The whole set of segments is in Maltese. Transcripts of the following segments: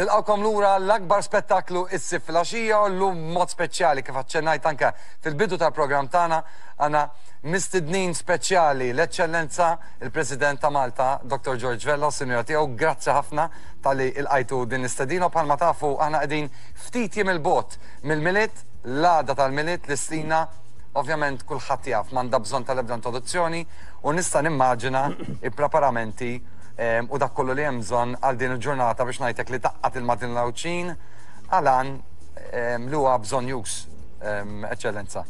Nilqgħukom lura għall-akbar spettaklu is-Sibt filgħaxija u llum b'mod speċjali kif aċċennajt anke fil-bidu tal-programm tagħna għandna mistednin speċjali l-Eċċellenza il-President ta' Malta Dottor George Vella u s-Sinjura tiegħu. Grazzi ħafna talli ilqajtu din l-istedina u bħalma tafu aħna qegħdin ftit jiem 'il bogħod mill-Milied, l-għada tal-Milied, l-Istina ovvjament kulħadd jaf m'għandha bżonn tal-ebda introduzzjoni u nista' nimmaġina il-preparamenti u dak kollu li hemm bżonn għal din il-ġurnata biex ngħidlek li tgħaqqad il-Maltin u l-Għawdxin għal għan li huwa bżonnjuż, Eċċellenza.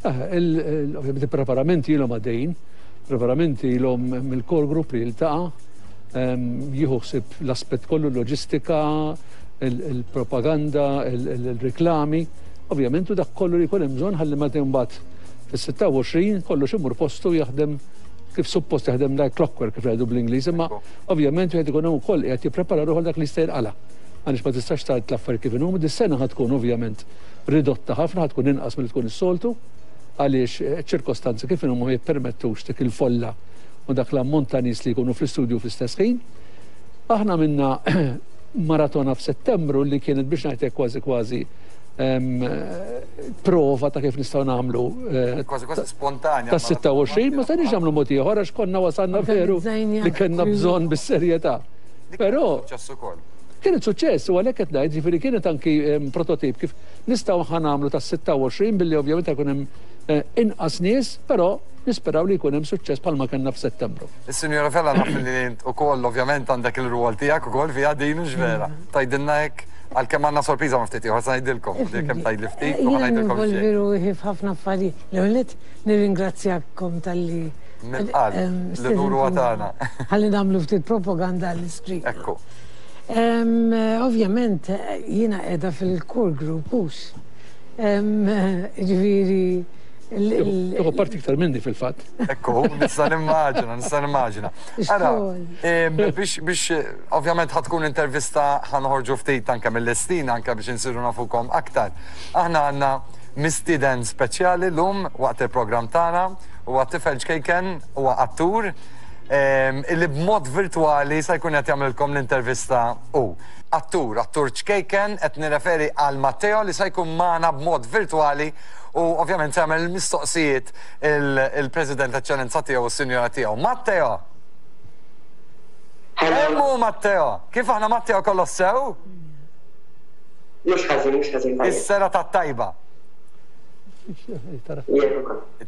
Ovvjament il-preparamenti ilhom għaddejjin, preparamenti ilhom mill-core group li jiltaqa' jieħu ħsieb l-aspett kollu l-loġistika, il-propaganda, il-riklami, ovvjament u dak kollu li jkun hemm bżonn ħalli meta imbagħad fis-26 kollox imur postu jaħdem kif suppost jaħdem like clockwork kif jgħidu bl-Ingliż, imma ovvjament wieħed ikun hemm ukoll qiegħed jipprepara ruħu dak li jista' jinqala'. Għaliex ma tistax tgħid l-affarijiet kif inhuma, dis-sena ħa tkun ovvjament ridotta ħafna, ħa tkun inqas milli tkun is-soltu, għaliex ċ-ċirkostanzi kif inhuma ma jippermettux dik il-folla u dak l-ammont ta' nies li jkunu fl-istudju fl-istess ħin. Aħna għamilna maratona f'Settembru li kienet biex ngħid hekk kważi kważi prova ta' kif nistgħu nagħmlu. Eh, kważi kważi spontanja. Ta' 26 ma stajniex nagħmlu mod ieħor għax konna wasalna veru li kellna bżonn bis-serjetà. Però suċċess ukoll. Kienet suċċess u għalhekk qed ngħid, ġifieri kienet anki prototip kif nistgħu ħa nagħmlu tas-26 billi ovvjament jkun hemm eh, inqas nies, però nisperaw li jkun hemm suċċess bħalma kellna f'Settembru. Is-Sinjora Vella naf li int ukoll ovvjament għandek il-rwol tiegħek ukoll fiha din hux vera. Tgħidilna hekk għalkemm għandna sorpriża ma' ftit ieħor se ngħidilkom, kemm tgħidli ftit u ħa ngħidilkom xejn. Jiena ruħi f'ħafna affarijiet. L-ewwel nett nirringrazzjakom talli Mill-qalb, l-unur huwa tagħna. Ħalli nagħmlu ftit propaganda għall-istrina. Ekku. Ovvjament jiena qiegħda fil-core group hux. Ġifieri Tieħu parti iktar minni fil-fatt. Ekku, nista' nimmaġina, nista' nimmaġina. Ara, biex biex ovvjament ħa tkun intervista ħa noħorġu ftit anke mill-istin anke biex insiru nafukom aktar. Aħna għandna mistieden speċjali llum waqt il-programm tagħna, huwa tifel ċkejken, huwa attur, illi b'mod virtwali se jkun qed jagħmlilkom l-intervista hu. Attur, attur ċkejken, qed nirreferi għal Matteo li se jkun magħna b'mod virtwali u ovvjament se jagħmel il-mistoqsijiet il-President Eċċellenza tiegħu u s-Sinjora tiegħu. Matteo! Hemm hu Matteo! Kif aħna Matteo kollox sew? Mhux ħażin, mhux ħażin tajjeb. Is-serata t-tajba.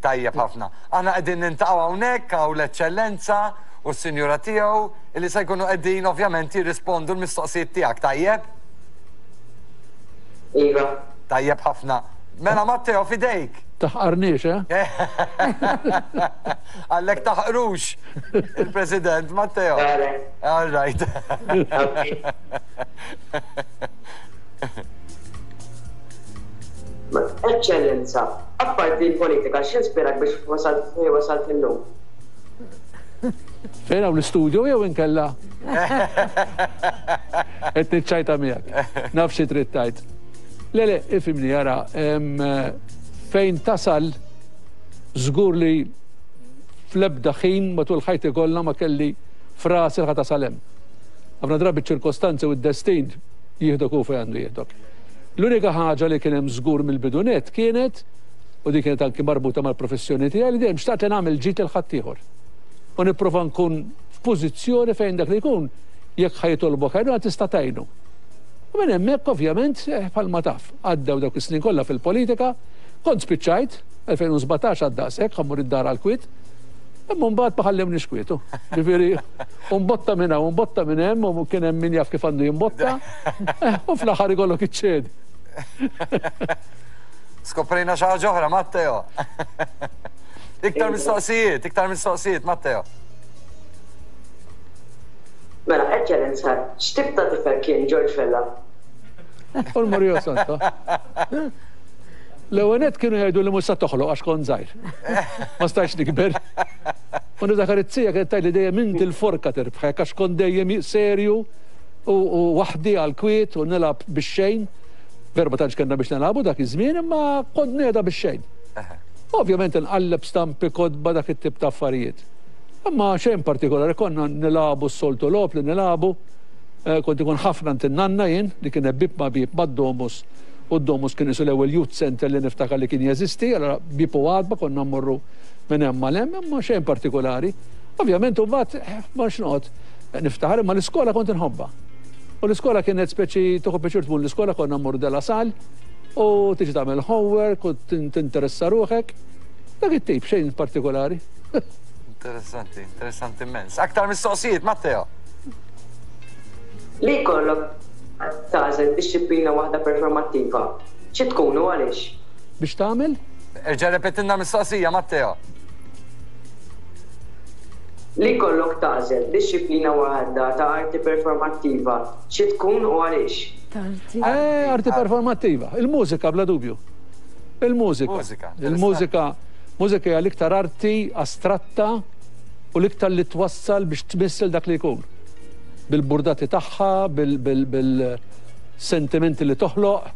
Tajjeb ħafna. Aħna qegħdin nintaqgħu hawnhekk hawn l-Eċċellenza u s-Sinjura tiegħu illi se jkunu qegħdin ovvjament jirrispondu l-mistoqsijiet tiegħek, tajjeb? Iva. Tajjeb ħafna. Mela Matteo f'idejk. Taħqarniex, eh? Għallek taħqrux il-President Matteo. All right. Eċċellenza, apparti l-politika, x'inspirak biex wasalt fejn wasalt illum? Fejn hawn l-istudio jew inkella? Qed niċċajta miegħek. Naf xi trid tgħid. Le, le, ifhimni, ara, fejn tasal żgur li fl-ebda ħin matul ħajti kollha ma kelli frasi li ħa tasal hemm. Ħafna drabi ċ-ċirkostanzi u d-destin jieħdok hu fejn għandu jieħdok. L-unika ħaġa li kien hemm żgur mill-bidu nett kienet, u din kienet anki marbuta mal-professjoni tiegħi, li dejjem xtaqt li nagħmel ġid lil ħaddieħor. U nipprova nkun f'pożizzjoni fejn dak li jkun jekk ħa jitolbok għajnuna tista' tgħinu. U minn hemmhekk ovvjament, bħalma taf, għaddew dawk is-snin kollha fil-politika, kont spiċċajt, 2017 għad daqshekk, ħa mmur id-dar għall-kwiet, imma mbagħad ma ħallewniex kwiet, hu. Ġifieri, u mbotta minn hawn, u mbotta minn hemm, u kien hemm min jaf kif għandu jimbotta, u fl-aħħar ikollok iċċedi. Skoprejna xi ħaġa oħra, Matteo. Iktar mistoqsijiet, iktar mistoqsijiet, Matteo. Mela, Eċċellenza, x'tip ta' tifel kien George Vella? U l-Mario Santo. L-ewwel nett kienu jgħidu li mhux sa toħloq għax kont żgħir. Ma stajtx nikber. U niftakar it-tija kienet tgħidli dejjem inti l-forka tirbħek għax kont dejjem serju u waħdi għall-kwiet u nilgħab bix-xejn. Veru ma tantx kellna biex nilagħbu dak iż-żmien imma kont ngħedha bix-xejn. Ovvjament inqalleb stampi, kotba, dak it-tip ta' affarijiet. Imma xejn partikolari, konna nilagħbu s-soltu logħob li nilagħbu. Kont ikun ħafna għand in-nanna jien, li kienet bieb ma' bieb mad-Domus, u d-Domus kien qisu l-ewwel youth centre li niftakar li kien jeżisti, allura bieb u għatba konna mmorru minn hemm għal hemm, imma xejn partikulari. Ovvjament imbagħad ma rridx noqgħod niftaħar, imma l-iskola kont inħobbha. U l-iskola kienet speċi tieħu pjaċir tmur l-iskola, konna mmorru De La Salle u tiġi tagħmel homework u tinteressa ruħek. Dak it-tip, xejn partikolari. Interessanti, interessanti immens. Aktar mistoqsijiet, Matteo? Li jkollok tagħżel dixxiplina waħda performattiva, xi tkun u għaliex? Biex tagħmel? Erġa' rrepetilna l-mistoqsija, Matteo. Li jkollok tagħżel dixxiplina waħda ta' arti performattiva, xi tkun u għaliex? Arti. Eh, arti performattiva. Il-mużika bla dubju. Il-mużika. Mużika. Il-mużika. Mużika hija l-iktar arti astratta u l-iktar li twassal biex tmiss lil dak li jkun. Bil-burdati tagħha, bil-sentimenti li toħloq,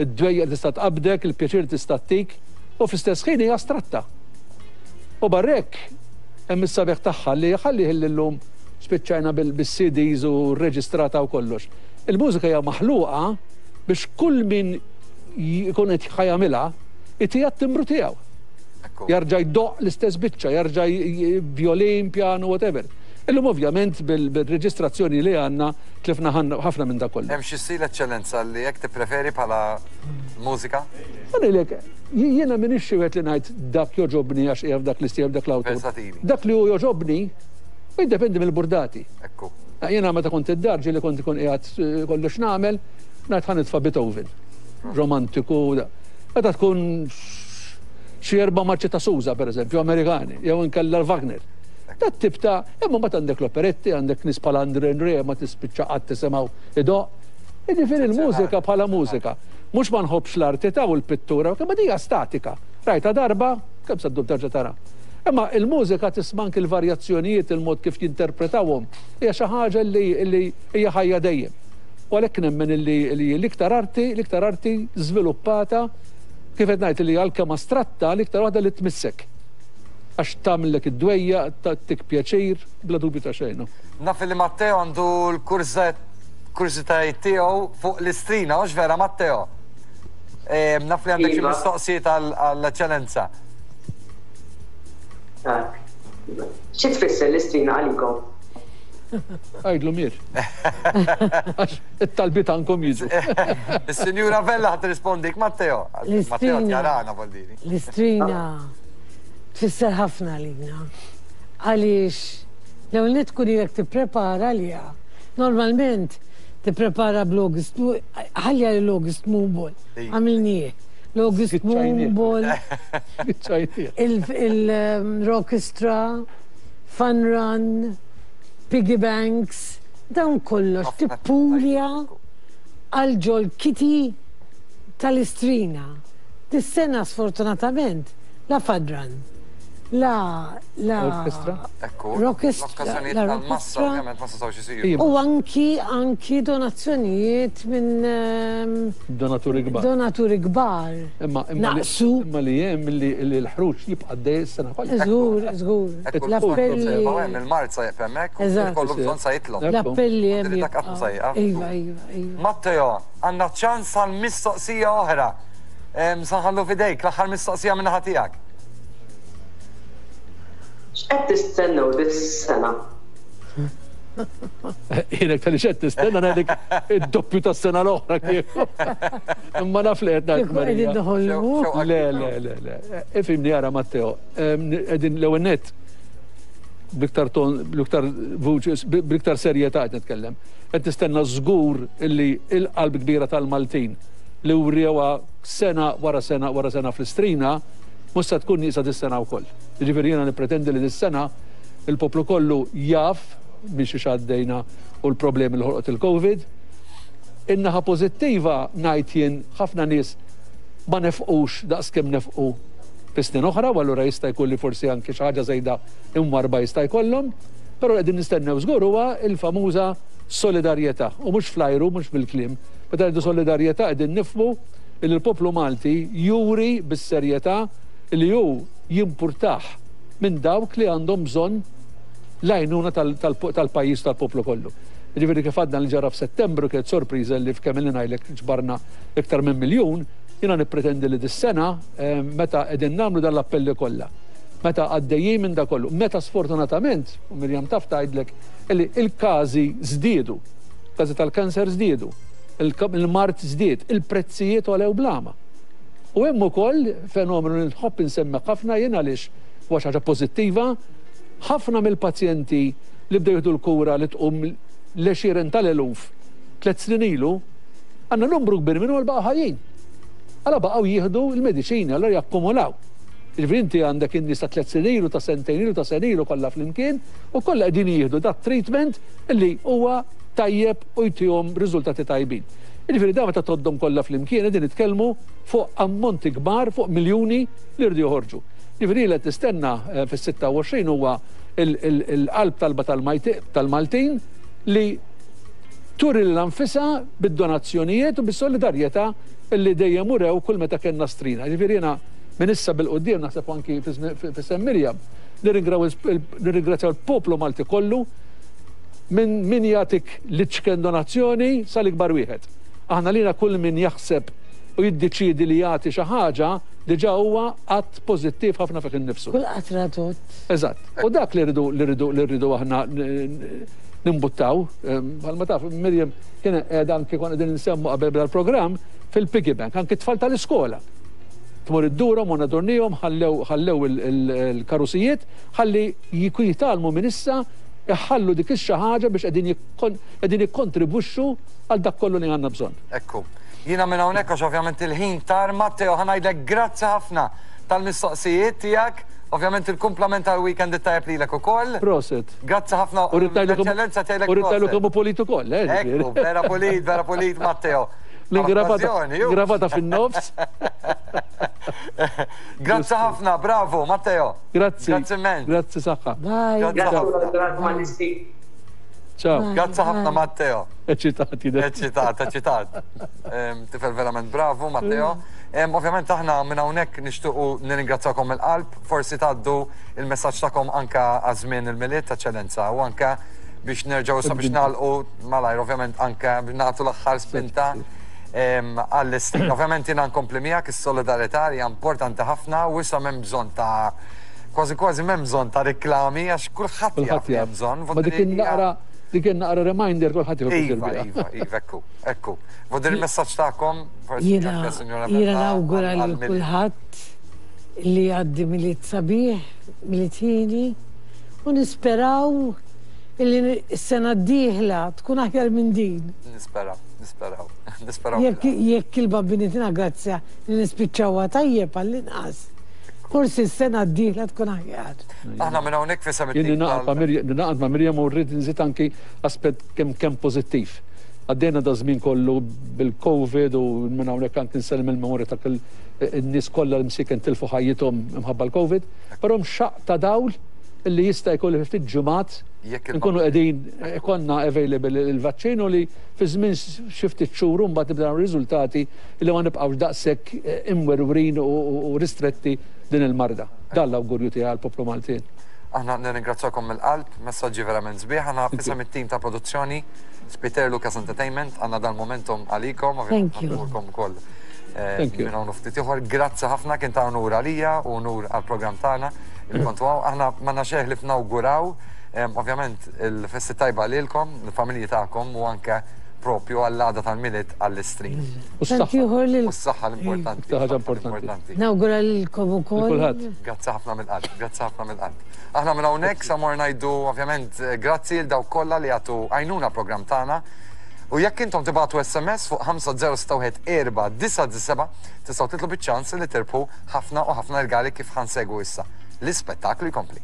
id-dwejjaq li tista' tqabbdek, il-pjaċir li tista' ttik, u fl-istess ħin hija astratta. U barra hekk, hemm is-sabiħ tagħha li ħalli li llum spiċċajna bis-CDs u rreġistrata u kollox. Il-mużika hija maħluqa biex kull min jkun qed ħa jagħmilha itiha t-timbru tiegħu. Jarġa' jdoqq l-istess biċċa, jarġa' violin, piano, whatever. Illum ovvjament bil-reġistrazzjoni li għandna tlifna ħafna minn dak kollu. Hemm xi stil Eċċellenza li hekk tippreferi bħala mużika? Ma ngħidlek, jiena m'iniex xi wieħed li ngħid dak jogħġobni għax qiegħed f'dak l-istil jew dak l-awtur. Versatili. Dak li hu jogħġobni jiddependi mill-burdati. Ekku. Jiena meta kont id-dar ġieli kont ikun qiegħed kollox nagħmel, ngħid ħa nitfa' Beethoven. Romantiku. Meta tkun xi erba' marċi ta' Sousa, per eżempju, Amerikani, jew inkella Wagner. Dat tip ta' imma mbagħad għandek l-operetti, għandek nies bħal André André ma tispiċċa qatt tisimgħu idoqq. Jiġifieri l-mużika bħala mużika. Mhux ma nħobbx l-arti ta' u l-pittura, imma dija statika. Rajta darba, kemm se ddum terġa' tara. Imma il-mużika tisma' anki l-varjazzjonijiet, il-mod kif jinterpretawhom, hija xi ħaġa li hija ħajja dejjem. U għalhekk nemmen li l-iktar arti, l-iktar arti żviluppata Kif qed ngħid li għalkemm astratta l-iktar waħda li tmissek. Għax tagħmillek id-dwejjaq, tagħtik pjaċir, bla dubju ta' xejn. Naf li Matteo għandu l-kurżitajiet tiegħu fuq l-Istrina, hux vera Matteo? Naf li għandek xi mistoqsijiet għall-Eċċellenza. Xi tfisser l-Istrina għalikom? Għidlu mir. Għax it-talbiet għandkom jiġu. Is-Sinjura Vella ħa tirrispondik Matteo. Matteo tjarana Boldini. L-istrina tfisser ħafna għalina. Għaliex l-ewwel nett tkun ilek tipprepara għaliha. Normalment tipprepara bl-August, ħalli għal l-August Moonball. Għamilnieh. L-August Moonball. Il-Rockestra, Fun Run, piggy banks, dawn kollox tippulja għal ġol kitty tal-Istrina. Dis-sena sfortunatament la Fun Run, la la Orchestra. Ekku, Rockestra, l-okkażjonijiet la tal-massa Rockestra. ovvjament ma setgħux isiru. U anki anki donazzjonijiet minn ehm, Donaturi kbar. donaturi kbar. Imma imma li Naqsu. imma li hemm li li l-ħruġ jibqa' għaddej is-sena kollha. Żgur, żgur. Ekku, L-appelli. Ma hemm il-mard sa jieqaf hemmhekk u Eżatt. kollu bżonn sa jitlob. Ekku. L-appelli hemm Dak qatt mhu sa jibqgħu. jieqaf. Iva, iva, iva. Matteo, għandna ċans għal mistoqsija oħra. Em, Sa nħallu f'idejk l-aħħar mistoqsija minn naħa tiegħek. X'qed tistennew dis-sena? Jiena tal xed tistenna ngħidlek id-doppju tas-sena l-oħra kieku. Imma naf li qed ngħid Kieku qegħdin Marija. noħolmu. Xewqa Le, le, le, le. Ifhimni ara Matteo, qegħdin l-ewwel nett bl-iktar ton, bl-iktar vuċi, bl-iktar serjetà qed nitkellem. Qed nistenna żgur illi il-qalb kbira tal-Maltin li wrewha sena wara sena wara sena fl-Istrina mhux se tkun nieqsa dis-sena wkoll. Jiġifieri jiena nippretendi li dis-sena il-poplu kollu jaf minn xiex għaddejna u l-problemi li ħolqot il-Covid. In-naħa pożittiva ngħid jien ħafna nies ma nefqux daqskemm nefqu fi snin oħra u allura jista' jkun li forsi anki xi ħaġa żejda imwarba jista' jkollhom, però li qegħdin nistennew żgur huwa l-famuża solidarjetà u mhux fl-ajru, mhux bil-kliem. Meta ngħidu solidarjetà qegħdin nifhmu li l-poplu Malti juri bis-serjetà li hu jimpurtah minn dawk li għandhom bżonn l-għajnuna tal-pajjiż u tal-poplu kollu. Jiġifieri kif għadna li ġara f'Settembru kienet sorpriża li f'kemm ilni ngħidlek ġbarna iktar minn miljun, jiena nippretendi li dis-sena meta qegħdin nagħmlu dan l-appelli kollha, meta għaddejjin minn da kollu, meta sfortunatament, u Miriam taf tgħidlek, illi il-każi żdiedu, każi tal-kanser żdiedu, il-mard żdied, il-prezzijiet għolew bl-għama. U hemm ukoll fenomenu li nħobb insemmi ħafna jien għaliex huwa xi ħaġa pożittiva, ħafna mill-pazjenti li bdew jieħdu l-kura li tqum l-għexieren tal-eluf tlett snin ilu, għandna numru kbir minnhom li baqgħu ħajjin. Allura baqgħu jieħdu l-mediċini, allura jakkumulaw. Jiġifieri inti għandek in-nies ta' tlett snin ilu, ta' sentejn ilu, ta' sena ilu kollha flimkien u kollha qegħdin jieħdu dat-treatment li huwa tajjeb u jtihom riżultati tajbin. Jiġifieri dawn meta tgħoddhom kollha flimkien qegħdin nitkellmu fuq ammonti kbar, fuq miljuni li jridu joħorġu. Jiġifieri li qed nistenna fis-26 huwa il-qalb talba tal-Maltin li turi lilha nfisha bid-donazzjonijiet u bis-solidarjetà li dejjem urew kull meta kellna strina. Jiġifieri jiena minn issa bil-quddiem naħseb anki f'isem Miriam nirringrazzjaw il-poplu Malti kollu minn min jagħtik l-iċken donazzjoni sal-ikbar wieħed. Aħna lina kull min jaħseb u jiddeċiedi li jagħti xi ħaġa diġà huwa att pożittiv ħafna fih innifsu. Kull qatra tgħodd. Eżatt. U dak li rridu li rridu li rridu aħna nimbuttaw, bħalma taf Miriam kien qiegħda anki konna qegħdin insemmu qabel beda l-programm fil-piggy bank, anki t-tfal tal-iskola. Tmur iddurhom u nadurnihom ħallew ħallew il-karusijiet ħalli jitgħallmu minn issa iħallu dik ix-xi ħaġa biex qegħdin qegħdin jikkontribwixxu għal dak kollu li għandna bżonn. Ekku. Jiena minn hawnhekk għax ovvjament il-ħin tar Matteo ħa ngħidlek grazzi ħafna tal-mistoqsijiet tiegħek. Ovvjament il-kumplament tal-weekend it-tajjeb lilek ukoll. Proset. Grazzi ħafna. U rrid ngħidlek tgħidlek U rrid ngħidlek kemm hu pulit ukoll, eh. Ekku, vera pulit, vera pulit Matteo. L-ingravata fin-nofs. Grazzi ħafna, bravo Matteo. Grazzi. Grazzi immens. Grazzi saħħa. Bye. Grazzi Ciao. Grazzi ħafna Matteo. Eċitat jidher. Eċitat, eċitat. Tifel verament bravu Matteo. Ovvjament aħna minn hawnhekk nixtiequ nirringrazzjakom mill-qalb, forsi tgħaddu il-messaġġ tagħkom anke għaż-żmien il-Milied Eċċellenza u anke biex nerġgħu issa biex nagħlqu malajr ovvjament anke biex nagħtu l-aħħar spinta għall-istin. Ovvjament jiena nkompli miegħek is-solidarjetà hija importanti ħafna u issa m'hemm bżonn ta' kważi kważi m'hemm bżonn ta' riklami għax kulħadd jaf li hemm bżonn. Ma dik naqra dik naqra reminder kulħadd jieħu Iva, iva, iva, ekku, ekku. Vodir il-messaġġ tagħkom, Jiena jiena nawgura lil kulħadd li jgħaddi Milied sabiħ, Milied hieni, u nisperaw illi s-sena d-dieħla tkun aħjar minn din. Nisperaw, nisperaw, nisperaw. Jekk jekk il-Bambini tina grazzja li nispiċċawha tajjeb għall-inqas, forsi s-sena d-dieħla tkun aħjar. Aħna minn hawnhekk f'isem Jien it-tim ningħaqad ma' tal- Mirjam, ningħaqad ma' Mirjam u rrid nżid anki aspett kemm kemm pożittiv. Għaddejna da żmien kollu bil-Covid u minn hawnhekk anki nsellem il-memorja ta' kull in-nies kollha li msieken tilfu ħajjithom imħabba l-Covid, però hemm xaqq ta' dawl li jista' jkun li fi ftit ġimgħat Jekk il- nkunu qegħdin ikollna available il-vaċċin u li fi żmien xi ftit xhur u mbagħad nibdew naraw riżultati li ma nibqgħux daqshekk imwerwrin u ristretti din il-marda. Dan l-awgurju tiegħi għall-poplu Maltin. Aħna nirringrazzjakom mill-qalb, messaġġi verament sbieħ. Aħna f'isem it-tim ta' produzzjoni Spiter Lucas Entertainment għandna dal-momentum għalikom, ovvjament Thank you. ħanurkom ukoll Thank you. minn hawn u ftit ieħor. Grazzi ħafna kien ta' unur għalija u unur għall-programm tagħna li kontu hawn. Aħna m'għandna xejn ħlief nawguraw ovvjament il-festi tajba lilkom, il-familji tagħkom u anke propju għall-għada tal-Milied għall-Istrin. U s-saħħa. Tant ieħor lil U s-saħħa l-importanti. Iktar ħaġa importanti. Nawgura lilkom ukoll. Kulħadd. Grazzi ħafna mill-qalb, grazzi ħafna mill-qalb. Aħna minn hawnhekk sa mor ngħidu ovvjament grazzi lil dawk kollha li jagħtu għajnuna programm tagħna. U jekk intom tibagħtu SMS fuq 5061 497 tistgħu titlu biċ-ċans li tirbħu ħafna u ħafna rigali kif ħa nsegwu issa. L-ispettaklu jkompli.